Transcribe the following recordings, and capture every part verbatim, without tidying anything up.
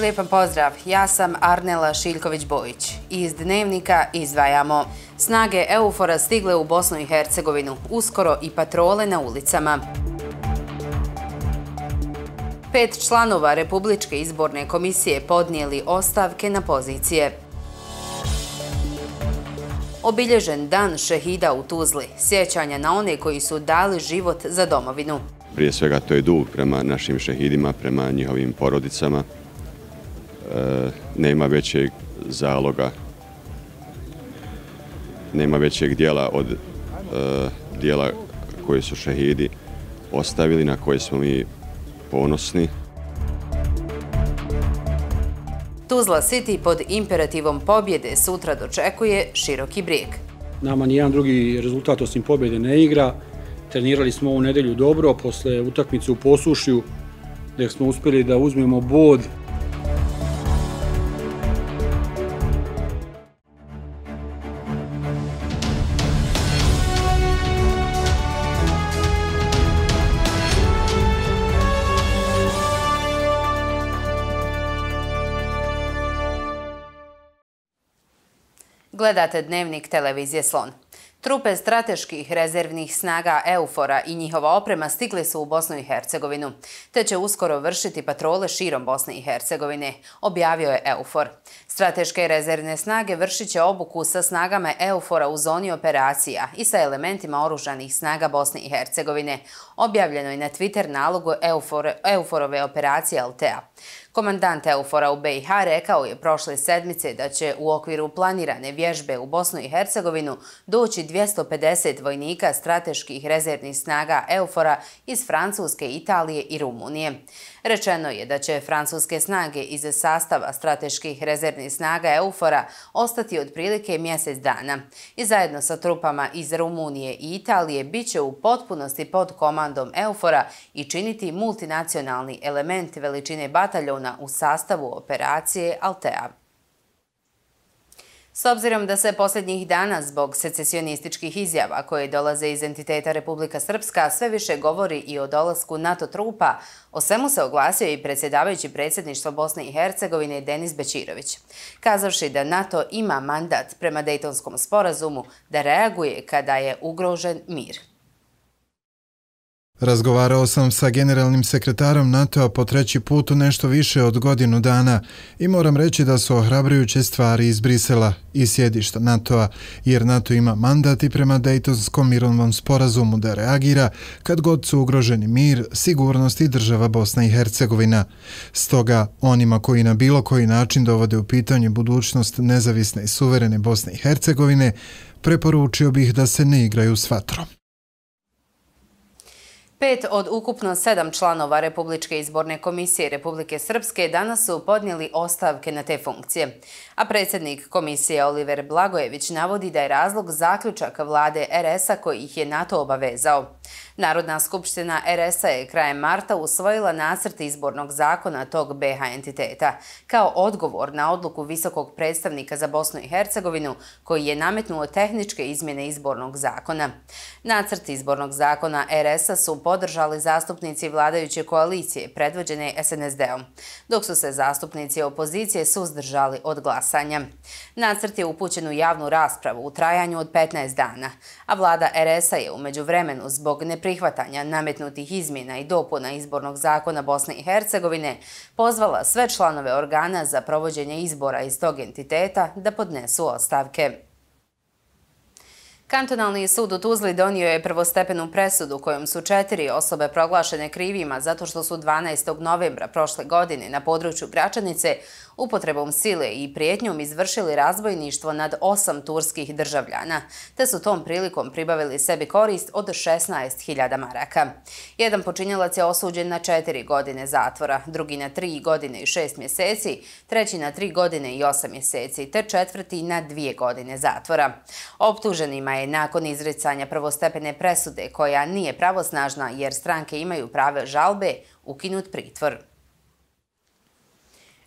Lijepan pozdrav, ja sam Arnela Šiljković-Bojić. Iz Dnevnika izdvajamo: snage EUFOR-a stigle u Bosnu i Hercegovinu, uskoro i patrole na ulicama. Pet članova Republičke izborne komisije podnijeli ostavke na pozicije. Obilježen dan šehida u Tuzli, sjećanja na one koji su dali život za domovinu. Prije svega to je dug prema našim šehidima, prema njihovim porodicama. E, nema većeg zaloga, nema većeg dijela od e, dijela koje su šehidi ostavili, na koje smo mi ponosni. Tuzla City pod imperativom pobjede sutra dočekuje Široki Brijeg. Nama nijedan drugi rezultat osim pobjede ne igra. Trenirali smo ovu nedelju dobro, posle utakmice u Posušju, gdje smo uspjeli da uzmemo bod. Gledate Dnevnik televizije Slon. Trupe strateških rezervnih snaga EUFOR-a i njihova oprema stigli su u Bosnu i Hercegovinu, te će uskoro vršiti patrole širom Bosne i Hercegovine, objavio je EUFOR. Strateške rezervne snage vršit će obuku sa snagama EUFOR-a u zoni operacija i sa elementima oružanih snaga Bosne i Hercegovine, objavljeno je na Twitter nalogu EUFOR-ove operacije Altea. Komandant EUFOR-a u B i H rekao je prošle sedmice da će u okviru planirane vježbe u Bosnu i Hercegovinu doći dvjesto pedeset vojnika strateških rezervnih snaga EUFOR-a iz Francuske, Italije i Rumunije. Rečeno je da će francuske snage iz sastava strateških rezervnih snaga EUFOR-a ostati otprilike mjesec dana i zajedno sa trupama iz Rumunije i Italije bit će u potpunosti pod komandom EUFOR-a i činiti multinacionalni element veličine bataljona u sastavu operacije Altea. S obzirom da se posljednjih dana zbog secesionističkih izjava koje dolaze iz entiteta Republika Srpska sve više govori i o dolasku NATO trupa, o svemu se oglasio i predsjedavajući predsjedništva Bosne i Hercegovine Denis Bećirović, kazavši da NATO ima mandat prema Dejtonskom sporazumu da reaguje kada je ugrožen mir. Razgovarao sam sa generalnim sekretarom NATO-a po treći put u nešto više od godinu dana i moram reći da su ohrabrujuće stvari iz Brisela i sjedišta NATO-a, jer NATO ima mandat i prema Dejtonskom mirovnom sporazumu da reagira kad god su ugroženi mir, sigurnost i država Bosna i Hercegovina. Stoga, onima koji na bilo koji način dovode u pitanje budućnost nezavisne i suverene Bosne i Hercegovine, preporučio bih da se ne igraju s vatrom. Pet od ukupno sedam članova Republičke izborne komisije Republike Srpske danas su podnijeli ostavke na te funkcije, a predsjednik komisije Oliver Blagojević navodi da je razlog zaključak vlade R S-a koji ih je na to obavezao. Narodna skupština R S-a je krajem marta usvojila nacrt izbornog zakona tog B H entiteta, kao odgovor na odluku visokog predstavnika za Bosnu i Hercegovinu koji je nametnuo tehničke izmjene izbornog zakona. Nacrt izbornog zakona R S-a su podržali zastupnici vladajuće koalicije predvođene S N S D-om, dok su se zastupnici opozicije suzdržali od glasanja. Nacrt je upućen u javnu raspravu u trajanju od petnaest dana, a vlada R S-a je u međuvremenu zbog neprihvatanja nametnutih izmjena i dopuna izbornog zakona Bosne i Hercegovine pozvala sve članove organa za provođenje izbora iz tog entiteta da podnesu ostavke. Kantonalni sud u Tuzli donio je prvostepenu presudu kojom su četiri osobe proglašene krivima zato što su dvanaestog novembra prošle godine na području Gračanice upotrebom sile i prijetnjom izvršili razbojništvo nad osam turskih državljana, te su tom prilikom pribavili sebi korist od šesnaest hiljada maraka. Jedan počinjelac je osuđen na četiri godine zatvora, drugi na tri godine i šest mjeseci, treći na tri godine i osam mjeseci, te četvrti na dvije godine zatvora. Optuženima je nakon izricanja prvostepene presude, koja nije pravosnažna jer stranke imaju pravo žalbe, ukinut pritvor.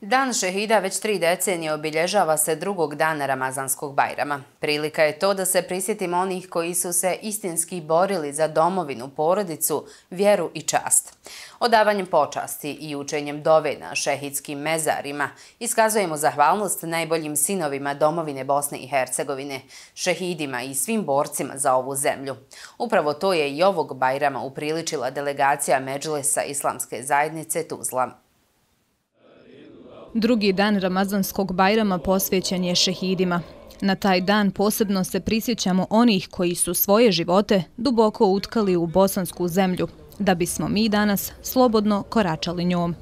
Dan šehida već tri decenije obilježava se drugog dana Ramazanskog Bajrama. Prilika je to da se prisjetimo onih koji su se istinski borili za domovinu, porodicu, vjeru i čast. Odavanjem počasti i učenjem dove na šehidskim mezarima iskazujemo zahvalnost najboljim sinovima domovine Bosne i Hercegovine, šehidima i svim borcima za ovu zemlju. Upravo to je i ovog Bajrama upriličila delegacija Medžlisa Islamske zajednice Tuzla. Drugi dan Ramazanskog Bajrama posvećen je šehidima. Na taj dan posebno se prisjećamo onih koji su svoje živote duboko utkali u bosansku zemlju, da bismo mi danas slobodno koračali njom.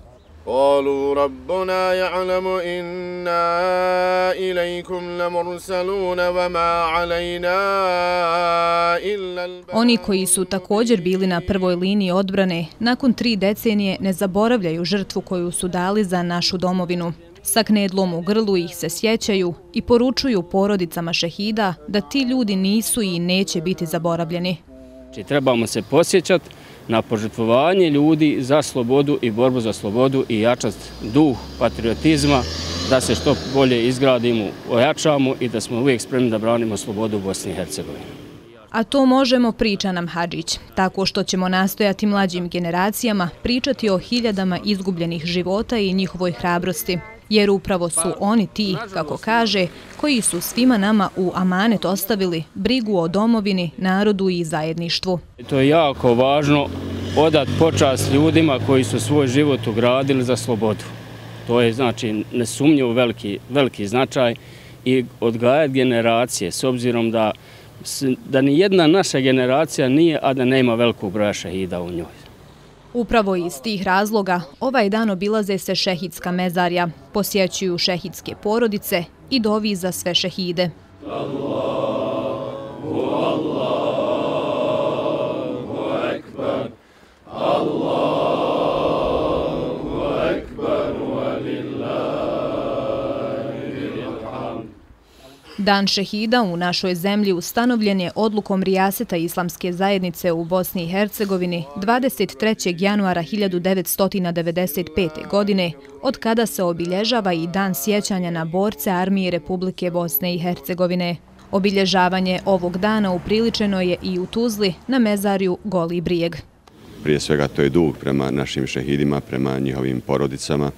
قالوا ربنا يعلم إنا إليكم لمرسلون وما علينا إلا Oni koji su također bili na prvoj liniji odbrane, nakon tri decenije ne zaboravljaju žrtvu koju su dali za našu domovinu. Sa knedlom u grlu ih se sjećaju i poručuju porodicama šehida da ti ljudi nisu i neće biti zaboravljeni. Trebamo se posjećati na požrtvovanje ljudi za slobodu i borbu za slobodu i jačati duh patriotizma, da se što bolje izgradimo, ojačamo i da smo uvijek spremni da branimo slobodu u Bosni i Hercegovini. A to možemo, priča nam Hadžić, tako što ćemo nastojati mlađim generacijama pričati o hiljadama izgubljenih života i njihovoj hrabrosti. Jer upravo su oni ti, kako kaže, koji su svima nama u amanet ostavili brigu o domovini, narodu i zajedništvu. To je jako važno odati počast ljudima koji su svoj život ugradili za slobodu. To je znači nesumnjivo veliki, veliki značaj i odgajati generacije s obzirom da, da ni jedna naša generacija nije, a da nema velikog broja šehida u njoj. Upravo iz tih razloga ovaj dan obilaze se šehidska mezarja, posjećuju šehidske porodice i dovi za sve šehide. Allahu, Allahu Ekber, Allahu Ekber, walillahil hamd. Dan šehida u našoj zemlji ustanovljen je odlukom Rijaseta Islamske zajednice u Bosni i Hercegovini dvadeset trećeg januara hiljadu devetsto devedeset pete. godine, od kada se obilježava i dan sjećanja na borce Armije Republike Bosne i Hercegovine. Obilježavanje ovog dana upriličeno je i u Tuzli na mezarju Goli brijeg. Prije svega to je dug prema našim šehidima, prema njihovim porodicama.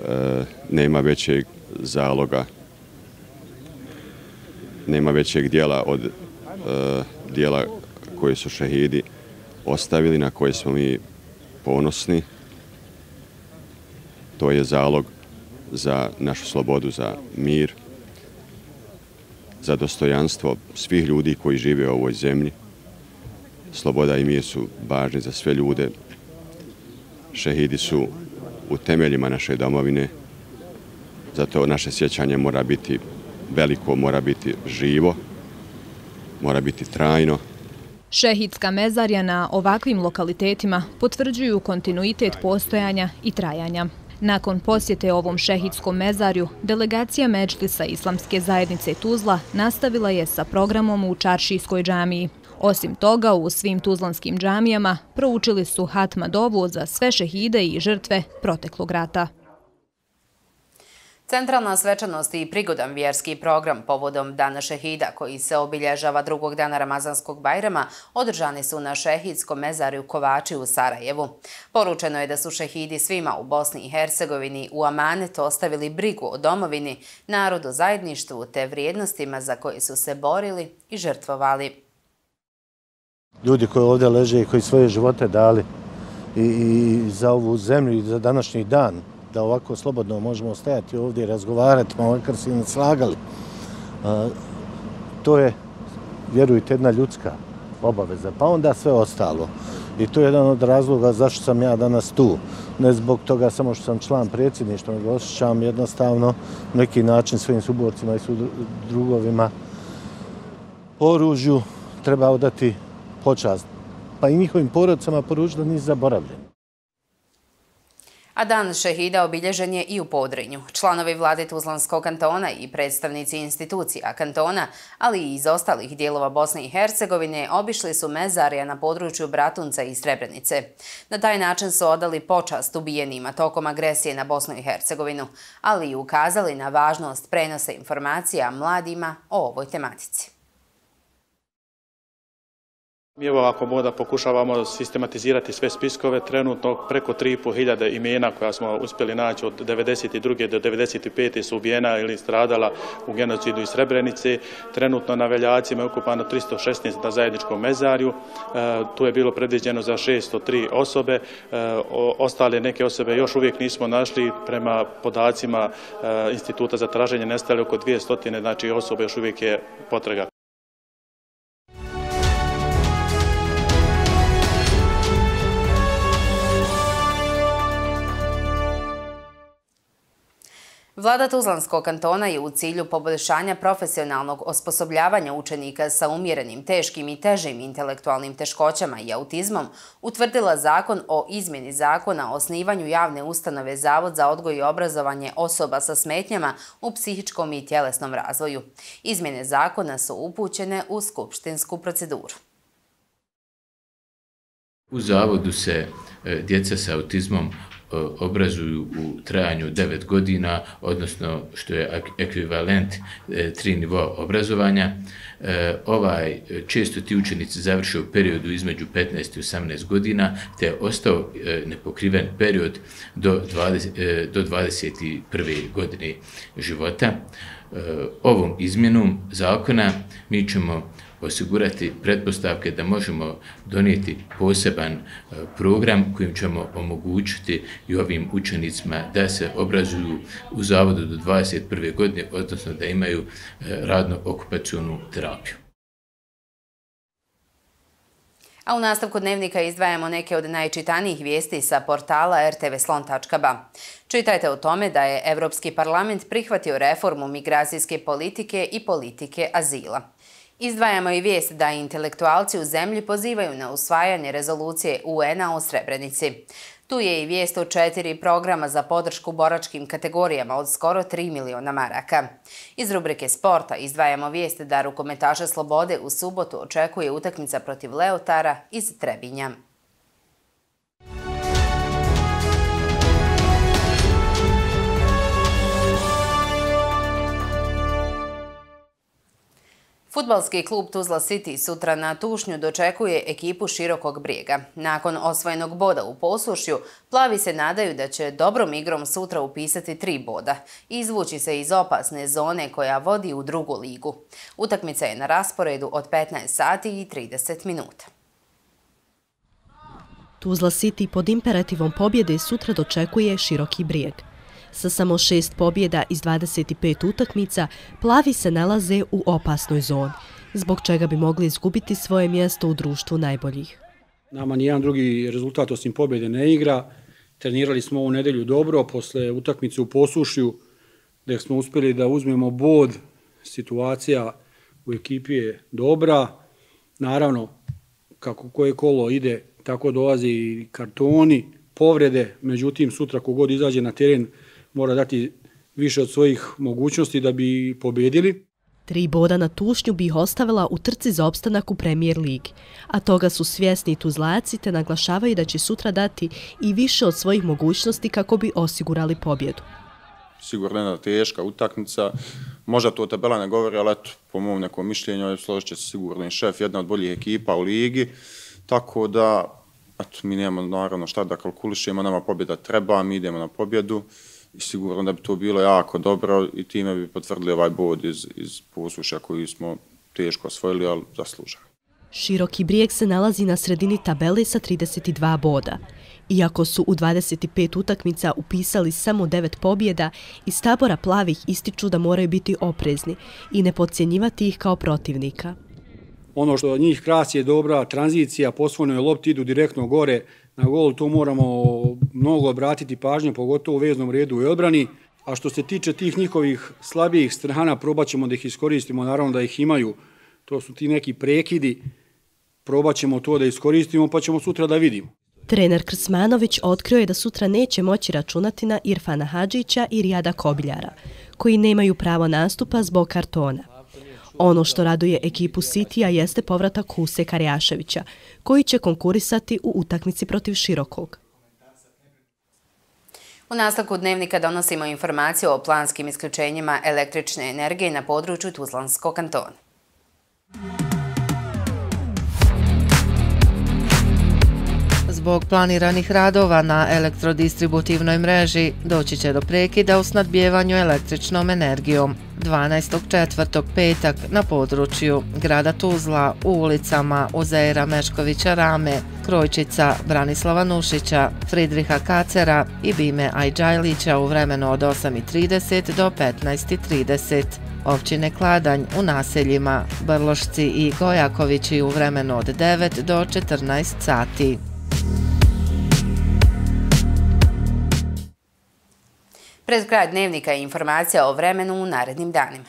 E, nema većeg zaloga, nema većeg dijela od e, dijela koje su šehidi ostavili, na koje smo mi ponosni. To je zalog za našu slobodu, za mir, za dostojanstvo svih ljudi koji žive u ovoj zemlji. Sloboda i mir su važni za sve ljude. Šehidi su u temeljima naše domovine, zato naše sjećanje mora biti veliko, mora biti živo, mora biti trajno. Šehidska mezarja na ovakvim lokalitetima potvrđuju kontinuitet postojanja i trajanja. Nakon posjete ovom šehidskom mezarju, delegacija Medžlisa Islamske zajednice Tuzla nastavila je sa programom u Čaršijskoj džamiji. Osim toga, u svim tuzlanskim džamijama proučili su hatma dovu za sve šehide i žrtve proteklog rata. Centralna svečanost i prigodan vjerski program povodom Dana šehida, koji se obilježava drugog dana Ramazanskog Bajrama, održani su na šehidskom mezarju Kovači u Sarajevu. Poručeno je da su šehidi svima u Bosni i Hercegovini u amanet ostavili brigu o domovini, narodu, zajedništvu te vrijednostima za koje su se borili i žrtvovali. Ljudi koji ovdje leže i koji svoje živote dali i, i za ovu zemlju i za današnji dan, da ovako slobodno možemo stajati ovdje i razgovarati, makar se i ne slagali. A, to je, vjerujte, jedna ljudska obaveza, pa onda sve ostalo. I to je jedan od razloga zašto sam ja danas tu. Ne zbog toga samo što sam član predsjedništva, nego osjećam jednostavno na neki način svojim suborcima i drugovima po oružju treba odati počast. Pa i njihovim porodicama poručiti da nisu zaboravljeni. A dan šehida obilježen je i u Podrinju. Članovi vlade Tuzlanskog kantona i predstavnici institucija kantona, ali i iz ostalih dijelova Bosne i Hercegovine, obišli su mezarija na području Bratunca i Srebrenice. Na taj način su odali počast ubijenima tokom agresije na Bosnu i Hercegovinu, ali i ukazali na važnost prenosa informacija mladima o ovoj tematici. Mi evo ako moda pokušavamo sistematizirati sve spiskove, trenutno preko tri i pol hiljade imena koja smo uspjeli naći od devedeset druge do devedeset pete su ubijena ili stradala u genocidu iz Srebrenice. Trenutno na Veljacima je ukupano tristo šesnaest na zajedničkom mezarju, e, tu je bilo predviđeno za šesto tri osobe, e, o, ostale neke osobe još uvijek nismo našli, prema podacima e, Instituta za traženje nestale oko dvjesto, znači osobe još uvijek je potraga. Vlada Tuzlanskog kantona je u cilju poboljšanja profesionalnog osposobljavanja učenika sa umjerenim, teškim i težim intelektualnim teškoćama i autizmom utvrdila zakon o izmjeni zakona o osnivanju javne ustanove Zavod za odgoj i obrazovanje osoba sa smetnjama u psihičkom i tjelesnom razvoju. Izmjene zakona su upućene u skupštinsku proceduru. U Zavodu se djeca sa autizmom obrazuju u trajanju devet godina, odnosno što je ekvivalent tri nivoa obrazovanja. Ovaj, često ti učenici završe u periodu između petnaest i osamnaest godina, te je ostao nepokriven period do, dvadeset, do dvadeset prve godine života. Ovom izmjenom zakona mi ćemo osigurati pretpostavke da možemo donijeti poseban program kojim ćemo omogućiti i ovim učenicima da se obrazuju u zavodu do dvadeset prve godine, odnosno da imaju radno-okupacionu terapiju. A u nastavku dnevnika izdvajamo neke od najčitanijih vijesti sa portala er te ve slon tačka ba. Čitajte o tome da je Evropski parlament prihvatio reformu migracijske politike i politike azila. Izdvajamo i vijest da intelektualci u zemlji pozivaju na usvajanje rezolucije u en a o Srebrenici. Tu je i vijest o četiri programa za podršku boračkim kategorijama od skoro tri miliona maraka. Iz rubrike sporta izdvajamo vijest da rukometaše Slobode u subotu očekuje utakmica protiv Leotara iz Trebinja. Fudbalski klub Tuzla City sutra na Tušnju dočekuje ekipu Širokog Brijega. Nakon osvojenog boda u Posušju, plavi se nadaju da će dobrom igrom sutra upisati tri boda i izvući se iz opasne zone koja vodi u drugu ligu. Utakmica je na rasporedu od petnaest sati i trideset minuta. Tuzla City pod imperativom pobjede sutra dočekuje Široki Brijeg. Sa samo šest pobjeda iz dvadeset pet utakmica, plavi se nalaze u opasnoj zoni, zbog čega bi mogli izgubiti svoje mjesto u društvu najboljih. Nama nijedan drugi rezultat osim pobjede ne igra. Trenirali smo ovu nedelju dobro, posle utakmice u Posušju, gdje smo uspjeli da uzmemo bod. Situacija u ekipi je dobra. Naravno, kako koje kolo ide, tako dolaze i kartoni, povrede. Međutim, sutra kogod izađe na teren, mora dati više od svojih mogućnosti da bi pobjedili. Tri boda na Tušnju bi ih ostavila u trci za opstanak u Premier Ligi, a toga su svjesni Tuzlaci te naglašavaju da će sutra dati i više od svojih mogućnosti kako bi osigurali pobjedu. Sigurno jedna teška utakmica, možda to tabela ne govori, ali eto, po mom nekom mišljenju, složit će se sigurno šef, jedna od boljih ekipa u ligi, tako da eto, mi nemamo naravno šta da kalkulišemo, nama pobjeda treba, mi idemo na pobjedu. I sigurno da bi to bilo jako dobro i time bi potvrdili ovaj bod iz, iz Posušja koji smo teško osvojili, ali zasluženo. Široki Brijeg se nalazi na sredini tabele sa trideset dva boda. Iako su u dvadeset pet utakmica upisali samo devet pobjeda, iz tabora plavih ističu da moraju biti oprezni i ne podcjenjivati ih kao protivnika. Ono što njih krasi je dobra tranzicija, posvojnoj lopti idu direktno gore na gol, to moramo mnogo obratiti pažnje, pogotovo u veznom redu i odbrani. A što se tiče tih njihovih slabijih strana, probat ćemo da ih iskoristimo, naravno da ih imaju. To su ti neki prekidi, probat ćemo to da iskoristimo, pa ćemo sutra da vidimo. Trener Krsmanović otkrio je da sutra neće moći računati na Irfana Hadžića i Rijada Kobiljara, koji nemaju pravo nastupa zbog kartona. Ono što raduje ekipu Citya jeste povratak Huse Karjaševića, koji će konkurisati u utakmici protiv Širokog. U nastavku dnevnika donosimo informaciju o planskim isključenjima električne energije na području Tuzlanskog kantona. Zbog planiranih radova na elektrodistributivnoj mreži doći će do prekida u snadbijevanju električnom energijom. dvanaestog četvrtog petak na području grada Tuzla u ulicama Uzeira Meškovića Rame, Krojčica, Branislava Nušića, Fridriha Kacera i Bime Ajđajlića u vremenu od osam i trideset do petnaest i trideset. Općine Kladanj u naseljima Brlošci i Gojakovići u vremenu od devet do četrnaest sati. Pred kraj dnevnika je informacija o vremenu u narednim danima.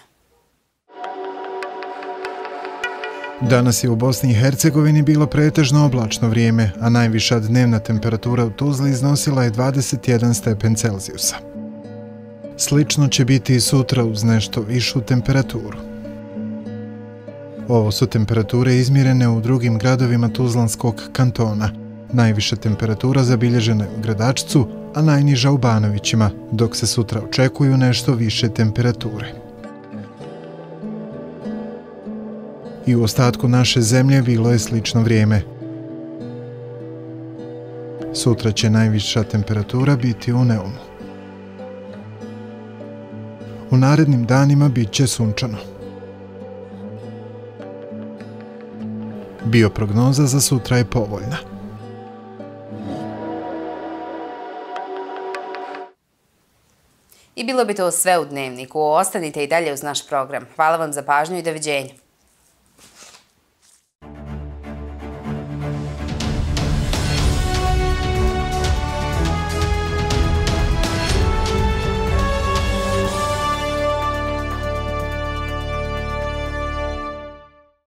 Danas je u Bosni i Hercegovini bilo pretežno oblačno vrijeme, a najviša dnevna temperatura u Tuzli iznosila je dvadeset jedan stepen Celzijusa. Slično će biti i sutra uz nešto višu temperaturu. Ovo su temperature izmjerene u drugim gradovima Tuzlanskog kantona. Najviša temperatura zabilježena je u Gradačcu, a najniža u Banovićima, dok se sutra očekuju nešto više temperature. I u ostatku naše zemlje bilo je slično vrijeme. Sutra će najviša temperatura biti u Neumu. U narednim danima bit će sunčano. Bioprognoza za sutra je povoljna. I bilo bi to sve u dnevniku. Ostanite i dalje uz naš program. Hvala vam za pažnju i doviđenja.